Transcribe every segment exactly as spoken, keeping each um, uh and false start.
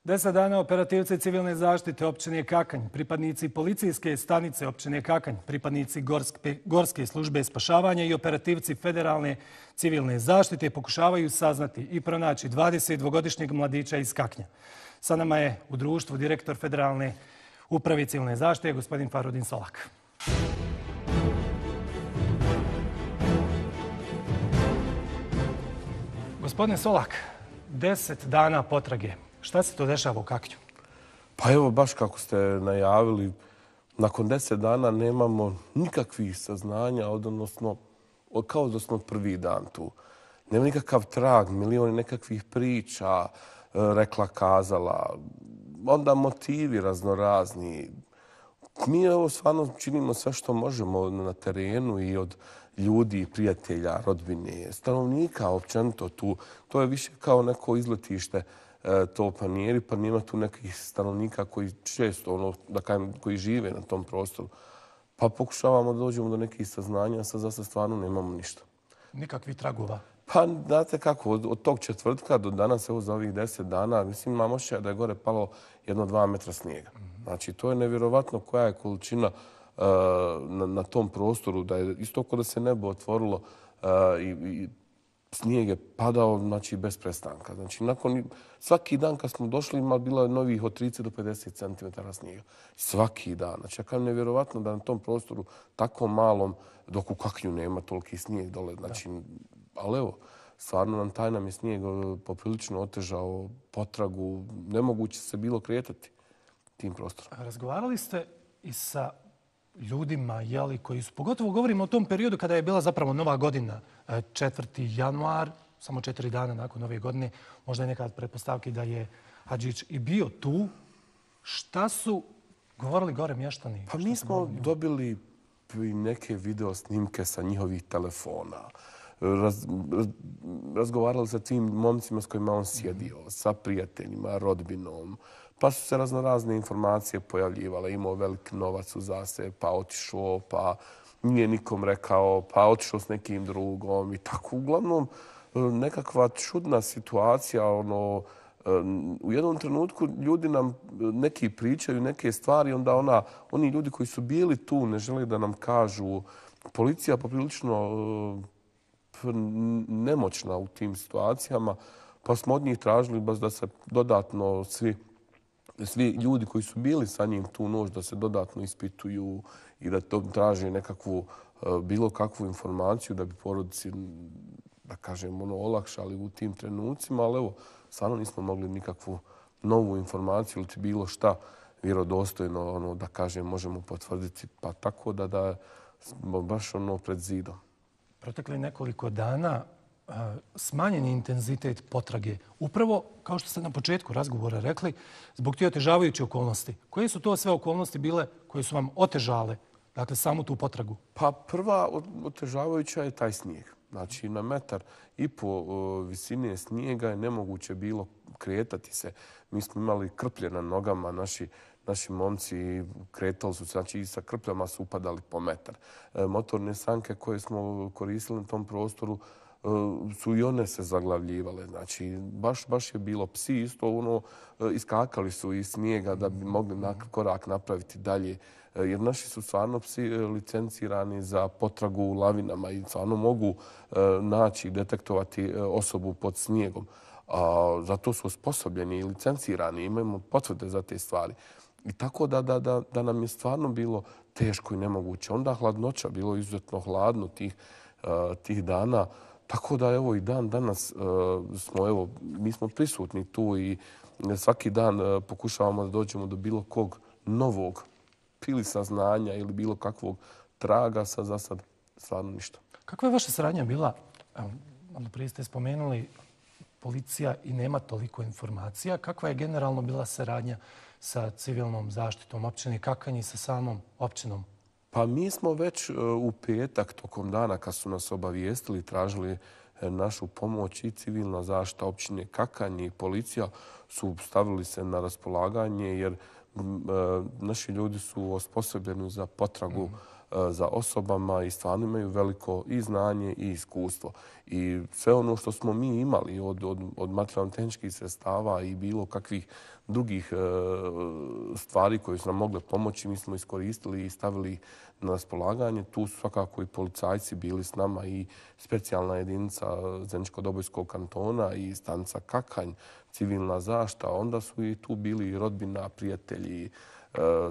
Deset dana operativci civilne zaštite općine Kakanj, pripadnici policijske stanice općine Kakanj, pripadnici gorske, gorske službe spašavanja i operativci federalne civilne zaštite pokušavaju saznati i pronaći dvadesetdvogodišnjeg mladića iz Kaknja. Sa nama je u društvu direktor federalne uprave civilne zaštite, gospodin Farudin Solak. Gospodine Solak, deset dana potrage. Šta se to dešava u Kaknju? Pa evo, baš kako ste najavili, nakon deset dana nemamo nikakvih saznanja, odnosno kao da smo prvi dan tu. Nema nikakav trag, milioni nekakvih priča, rekla, kazala, onda motivi raznorazni. Mi evo stvarno činimo sve što možemo na terenu i od ljudi, prijatelja, rodbine, stanovnika općenito tu. To je više kao neko izletište to Panijeri, pa nema tu nekih stanovnika koji često, ono, da kažem, koji žive na tom prostoru. Pa pokušavamo da dođemo do nekih saznanja, a sad za sad stvarno nemamo ništa. Nikakvih tragova? Pa, znate kako, od, od tog četvrtka do danas, evo za ovih deset dana, mislim, imamo še da je gore palo jedno dva metra snijega. Znači, to je nevjerovatno koja je količina uh, na, na tom prostoru, da je isto kao da se nebo otvorilo uh, i, i snijeg je padao, znači, bez prestanka. Znači, nakon, svaki dan kad smo došli ima bilo novih od trideset do pedeset centimetara snijega. Svaki dan. Znači, ja kažem, nevjerovatno da na tom prostoru tako malom, dok u Kaknju nema toliki snijeg dole. Znači, ali evo, stvarno nam taj nam je snijeg poprilično otežao potragu. Nemoguće se bilo kretati tim prostorom. Razgovarali ste i sa ljudima, jeli, koji su, pogotovo govorimo o tom periodu kada je bila zapravo Nova godina, četvrti januar, samo četiri dana nakon Nove godine, možda je neka pretpostavka da je Hadžić i bio tu. Šta su govorili gore mještani? Pa mi smo dobili neke video snimke sa njihovih telefona. Raz, raz, razgovarali sa tim momcima s kojima on sjedio, sa prijateljima, rodbinom. Pa su se raznorazne informacije pojavljivale. Imao velik novac u zase, pa otišao, pa nije nikom rekao, pa otišao s nekim drugom i tako. Uglavnom, nekakva čudna situacija. Ono, u jednom trenutku ljudi nam neki pričaju neke stvari, onda ona, oni ljudi koji su bili tu ne žele da nam kažu. Policija poprilično nemoćna u tim situacijama, pa smo od njih tražili baš da se dodatno svi, svi ljudi koji su bili sa njim tu noć da se dodatno ispituju i da to traže nekakvu bilo kakvu informaciju da bi porodici, da kažem, ono, olakšali u tim trenucima, ali evo, stvarno nismo mogli nikakvu novu informaciju ili bilo šta vjerodostojno, ono, da kažem, možemo potvrditi, pa tako da da baš ono pred zidom. Protekli nekoliko dana smanjen je intenzitet potrage. Upravo, kao što ste na početku razgovora rekli, zbog tih otežavajućih okolnosti. Koje su to sve okolnosti bile koje su vam otežale, dakle, samu tu potragu? Pa prva otežavajuća je taj snijeg. Znači, na metar i po visine snijega je nemoguće bilo kretati se. Mi smo imali krplje na nogama, naši Naši momci kretali su, znači i sa krpljama su upadali po metar. Motorne sanke koje smo koristili na tom prostoru su i one se zaglavljivale. Znači, baš, baš je bilo. Psi isto ono, iskakali su iz snijega da bi mogli korak napraviti dalje. Jer naši su stvarno psi licencirani za potragu u lavinama i stvarno mogu naći i detektovati osobu pod snijegom. A, zato su osposobljeni i licencirani. Imamo potvrde za te stvari. I tako da, da, da, da nam je stvarno bilo teško i nemoguće. Onda hladnoća, bilo izuzetno hladno tih, uh, tih dana. Tako da evo i dan danas uh, smo, evo, mi smo prisutni tu i svaki dan uh, pokušavamo da dođemo do bilo kog novog ili saznanja ili bilo kakvog traga, sa za sad stvarno ništa. Kakva je vaša saradnja bila? Malo prije ste spomenuli policija i nema toliko informacija. Kakva je generalno bila saradnja sa civilnom zaštitom općine Kakanj i sa samom općinom? Pa mi smo već u petak tokom dana kad su nas obavijestili, tražili našu pomoć i civilna zaštita općine Kakanj i policija su stavili se na raspolaganje jer naši ljudi su osposobljeni za potragu za osobama i stvarno imaju veliko i znanje i iskustvo. I sve ono što smo mi imali od, od, od materijalno-tehničkih sredstava i bilo kakvih drugih e, stvari koje su nam mogle pomoći, mi smo iskoristili i stavili na raspolaganje. Tu su svakako i policajci bili s nama i specijalna jedinica Zeničko-Dobojskog kantona i stanica Kakanj, civilna zaštita. Onda su i tu bili rodbina, prijatelji,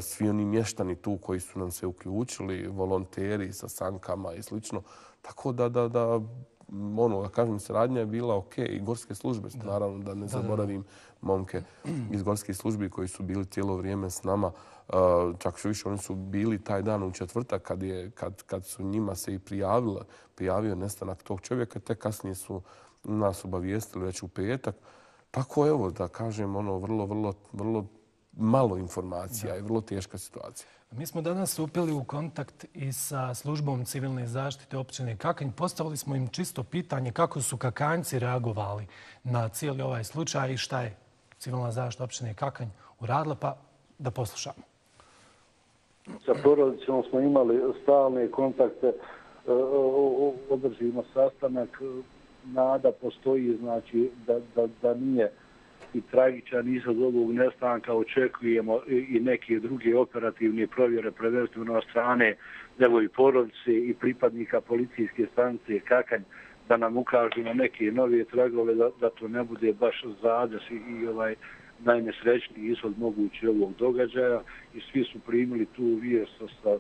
svi oni mještani tu koji su nam se uključili, volonteri sa sankama i slično. Tako da, da, da ono, da kažem, saradnja je bila ok. I gorske službe, da. Naravno da ne zaboravim momke iz gorskih službi koji su bili cijelo vrijeme s nama. Čak što više, oni su bili taj dan u četvrtak kad, je, kad, kad su njima se i prijavilo, prijavio nestanak tog čovjeka. Te kasnije su nas obavijestili već u petak. Tako evo, da kažem, ono, vrlo, vrlo, vrlo malo informacija i vrlo teška situacija. Mi smo danas stupili u kontakt i sa službom civilne zaštite općine Kakanj. Postavili smo im čisto pitanje kako su Kakanjci reagovali na cijeli ovaj slučaj i šta je civilna zaštita općine Kakanj uradila, pa da poslušamo. Sa porodicom smo imali stalne kontakte, održimo sastanak, nada postoji, znači da, da, da nije i tragičan ishod ovog nestanka, očekujemo i neke druge operativne provjere, prvenstveno od strane evo i porodice i pripadnika policijske stanice Kakanj, da nam ukažu na neke nove tragove, da, da to ne bude baš zades i, i ovaj najnesrećniji ishod mogući ovog događaja. I svi su primili tu vijest sa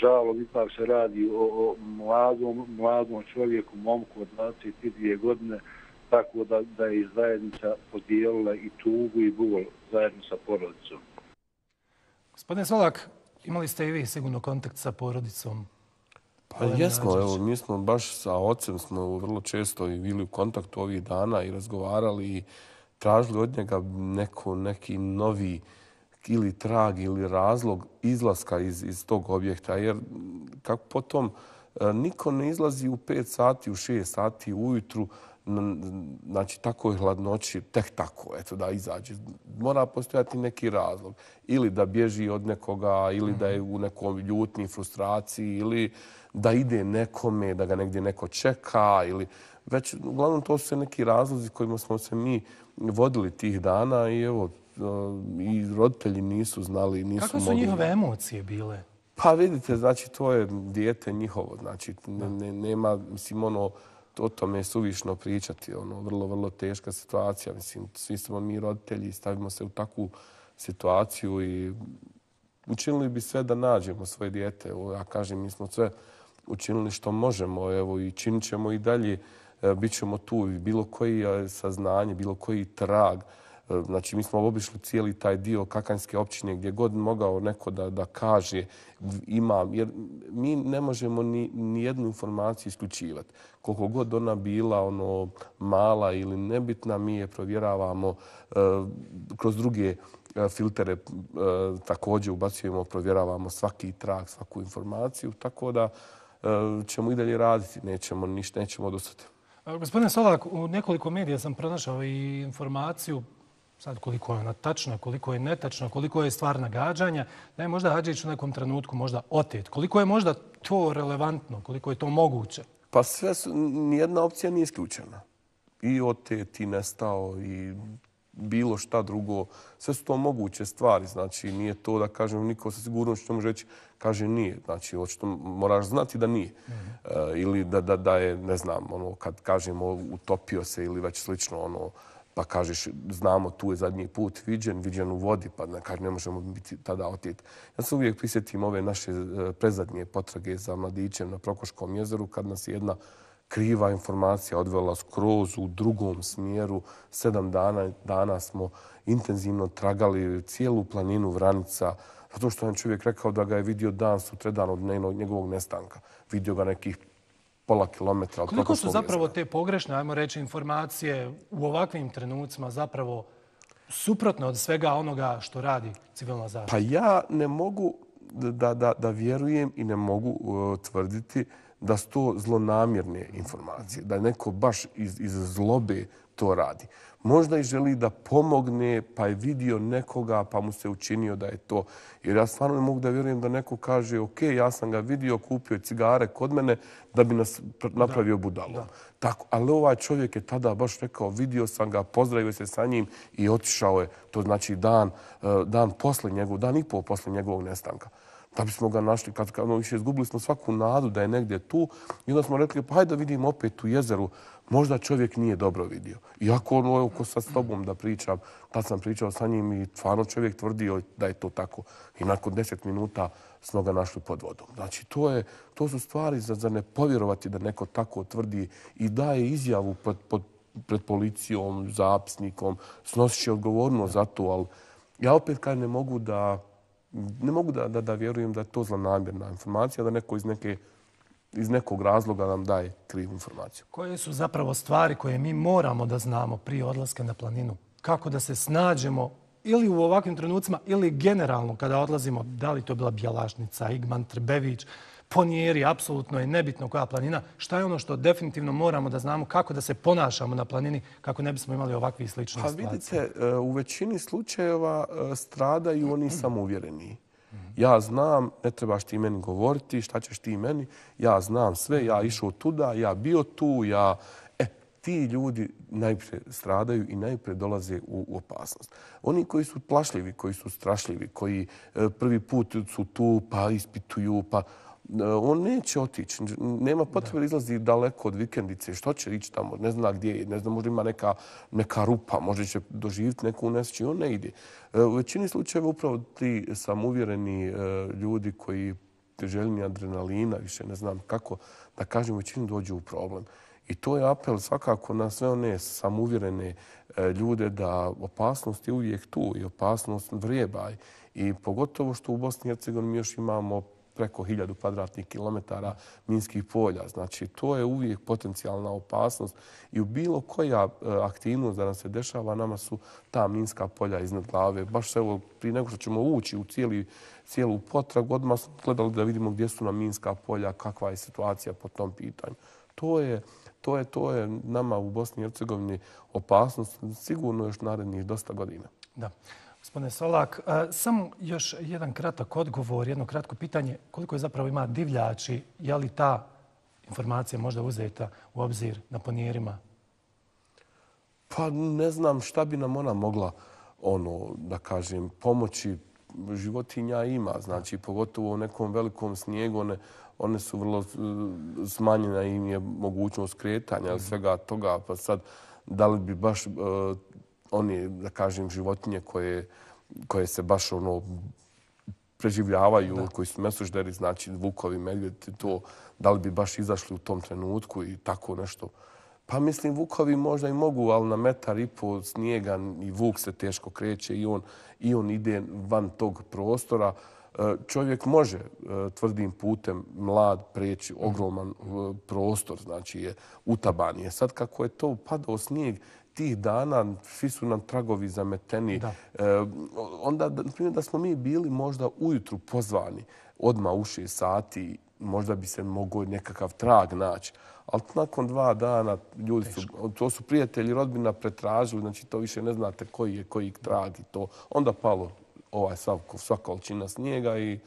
žalom. Ipak se radi o, o mladom, mladom čovjeku, momku od dvadeset dvije godine, tako da, da je i zajednica podijelila i tugu i bol zajedno sa porodicom. Gospodine Solak, imali ste i vi sigurno kontakt sa porodicom? Pa jesmo, evo, mi smo baš sa ocem smo vrlo često i bili u kontaktu ovih dana i razgovarali i tražili od njega neko, neki novi ili trag ili razlog izlaska iz, iz tog objekta. Jer kako potom niko ne izlazi u pet sati, u šest sati ujutru, znači takoj hladnoći, tek tako, eto, da izađe. Mora postojati neki razlog. Ili da bježi od nekoga, ili da je u nekom ljutni, frustraciji, ili da ide nekome, da ga negdje neko čeka, ili već, uglavnom, to su neki razlozi kojima smo se mi vodili tih dana i evo, i roditelji nisu znali, nisu mogli. Kako su njihove emocije bile? Pa vidite, znači, to je dijete njihovo, znači, ne, ne, nema, mislim, ono, o tome je suvišno pričati, ono, vrlo, vrlo teška situacija. Mislim, svi smo mi roditelji, stavimo se u takvu situaciju i učinili bi sve da nađemo svoje dijete. Evo, ja kažem, mi smo sve učinili što možemo, evo, i činit ćemo i dalje, bit ćemo tu. Bilo koji saznanje, bilo koji trag. Znači, mi smo obišli cijeli taj dio Kakanjske općine gdje god mogao neko da, da kaže imam, jer mi ne možemo ni, ni jednu informaciju isključivati. Koliko god ona bila ono mala ili nebitna, mi je provjeravamo uh, kroz druge uh, filtere uh, također ubacujemo, provjeravamo svaki trag, svaku informaciju, tako da uh, ćemo i dalje raditi, nećemo ništa, nećemo odustati. Gospodine Solak, u nekoliko medija sam pronašao i informaciju, sad koliko je ona tačna, koliko je netačna, koliko je stvar nagađanja, da je možda Hadžić u nekom trenutku možda otet. Koliko je možda to relevantno, koliko je to moguće? Pa sve su, nijedna opcija nije isključena. I otet, i nestao, i bilo šta drugo. Sve su to moguće stvari. Znači, nije to da kažem, niko sa sigurnošću može reći, kaže nije. Znači, očito moraš znati da nije. Mm-hmm. uh, ili da, da, da je, ne znam, ono, kad kažemo utopio se ili već slično, ono, pa kažeš, znamo, tu je zadnji put viđen, viđen u vodi, pa ne, ne možemo biti tada otet. Ja se uvijek prisjetim ove naše prezadnje potrage za mladićem na Prokoškom jezeru, kad nas jedna kriva informacija odvela skroz u drugom smjeru. Sedam dana, dana smo intenzivno tragali cijelu planinu Vranica, zato što je čovjek rekao da ga je vidio dan sutradan od njegovog nestanka. Vidio ga nekih pola kilometra od Koliko su zapravo te pogrešne, ajmo reći, informacije u ovakvim trenucima zapravo suprotne od svega onoga što radi civilna zaštita? Pa ja ne mogu da, da, da vjerujem i ne mogu uh, tvrditi da su to zlonamjerne informacije, da neko baš iz, iz zlobe to radi. Možda i želi da pomogne, pa je vidio nekoga, pa mu se učinio da je to. Jer ja stvarno ne mogu da vjerujem da neko kaže ok, ja sam ga vidio, kupio cigare kod mene da bi nas napravio budalom. Tako, ali ovaj čovjek je tada baš rekao, vidio sam ga, pozdravio se sa njim i otišao je, to znači dan, dan posle njegovog, dan i pol posle njegovog nestanka. Da bismo ga našli, kad, kad ono više izgubili smo svaku nadu da je negdje tu i onda smo rekli, pa hajde da vidimo opet u jezeru, možda čovjek nije dobro vidio. Iako ono, evo, ko sad s tobom da pričam, tad sam pričao sa njim i stvarno čovjek tvrdio da je to tako. I nakon deset minuta smo ga našli pod vodom. Znači, to, je, to su stvari za, za ne povjerovati da neko tako tvrdi i daje izjavu pod, pod, pred policijom, zapisnikom, snosit će odgovornost za to, ali ja opet kad ne mogu da Ne mogu da, da, da vjerujem da je to zlonamjerna informacija, da neko iz, neke, iz nekog razloga nam daje krivu informaciju. Koje su zapravo stvari koje mi moramo da znamo prije odlaska na planinu? Kako da se snađemo ili u ovakvim trenucima ili generalno kada odlazimo, da li to bila Bjelašnica, Igman, Trbević, Ponijeri, apsolutno je nebitno koja planina. Šta je ono što definitivno moramo da znamo kako da se ponašamo na planini kako ne bismo imali ovakve i slične pa, situacije? Vidite, u većini slučajeva stradaju oni samouvjereni. Ja znam, ne trebaš ti meni govoriti, šta ćeš ti meni, ja znam sve, ja išao tuda, ja bio tu, ja... E, ti ljudi najprije stradaju i najprije dolaze u, u opasnost. Oni koji su plašljivi, koji su strašljivi, koji prvi put su tu pa ispituju, pa... On neće otići. Nema potrebe da izlazi daleko od vikendice. Što će ići tamo? Ne zna gdje je. Ne zna, možda ima neka, neka rupa. Možda će doživjeti neku nesreću. On ne ide. U većini slučajeva upravo ti samouvjereni ljudi koji željni adrenalina, više ne znam kako, da kažem, u većini dođu u problem. I to je apel svakako na sve one samouvjerene ljude da opasnost je uvijek tu i opasnost vrijeba. I pogotovo što u Bosni i Hercegovini mi još imamo preko hiljadu kvadratnih kilometara minskih polja. Znači, to je uvijek potencijalna opasnost i u bilo koja aktivnost da nam se dešava, nama su ta minska polja iznad glave. Baš evo, prije nego što ćemo ući u cijeli, cijelu potragu, odmah smo gledali da vidimo gdje su nam minska polja, kakva je situacija po tom pitanju. To je, to je, to je nama u Bosni i Hercegovini opasnost sigurno još narednih dosta godina. Da. Gospodine Solak, samo još jedan kratak odgovor, jedno kratko pitanje. Koliko je zapravo ima divljači? Je li ta informacija možda uzeta u obzir na Ponijerima? Pa ne znam šta bi nam ona mogla, ono, da kažem, pomoći. Životinja ima, znači pogotovo u nekom velikom snijegu, one, one su vrlo smanjena i im je mogućnost kretanja ili svega toga. Pa sad, da li bi baš... Uh, oni, da kažem, životinje koje, koje se baš ono preživljavaju, da. Koji su mesožderi, znači vukovi, medvjedi, to, da li bi baš izašli u tom trenutku i tako nešto. Pa mislim, vukovi možda i mogu, ali na metar i po snijega i vuk se teško kreće i on, i on ide van tog prostora. Čovjek može tvrdim putem mlad preći ogroman prostor, znači je utaban je. Sad kako je to padao snijeg, tih dana svi su nam tragovi zameteni. Da. E, onda, na primjer, da smo mi bili možda ujutru pozvani odmah u šest sati, možda bi se mogao nekakav trag naći. Ali nakon dva dana ljudi su, to su prijatelji, rodbina pretražili, znači to više ne znate koji je koji trag i to. Onda palo ovaj sva, sva količina snijega i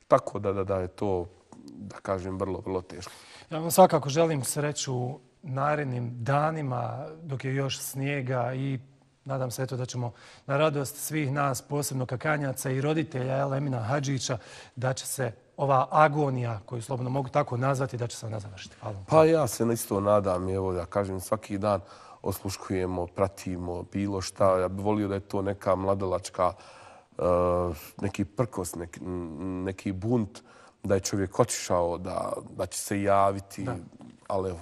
tako da, da, da je to, da kažem, vrlo, vrlo teško. Ja vam svakako želim sreću narednim danima dok je još snijega i nadam se eto da ćemo na radost svih nas, posebno kakanjaca i roditelja Emina Hadžića, da će se ova agonija, koju slobodno mogu tako nazvati, da će se ona završiti. Hvala. Pa ja se isto nadam, evo da kažem, svaki dan osluškujemo, pratimo bilo šta. Ja bih volio da je to neka mladalačka, uh, neki prkos, neki, neki bunt, da je čovjek otišao, da, da će se javiti, da. Ali evo,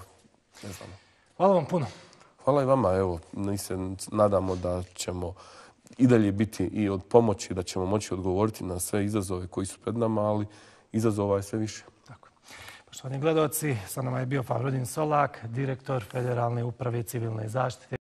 ne znam. Hvala vam puno. Hvala i vama. Evo, mi se nadamo da ćemo i dalje biti i od pomoći, da ćemo moći odgovoriti na sve izazove koji su pred nama, ali izazova je sve više. Tako. Poštovani gledalci, sa nama je bio Favrodin Solak, direktor Federalne uprave civilne zaštite.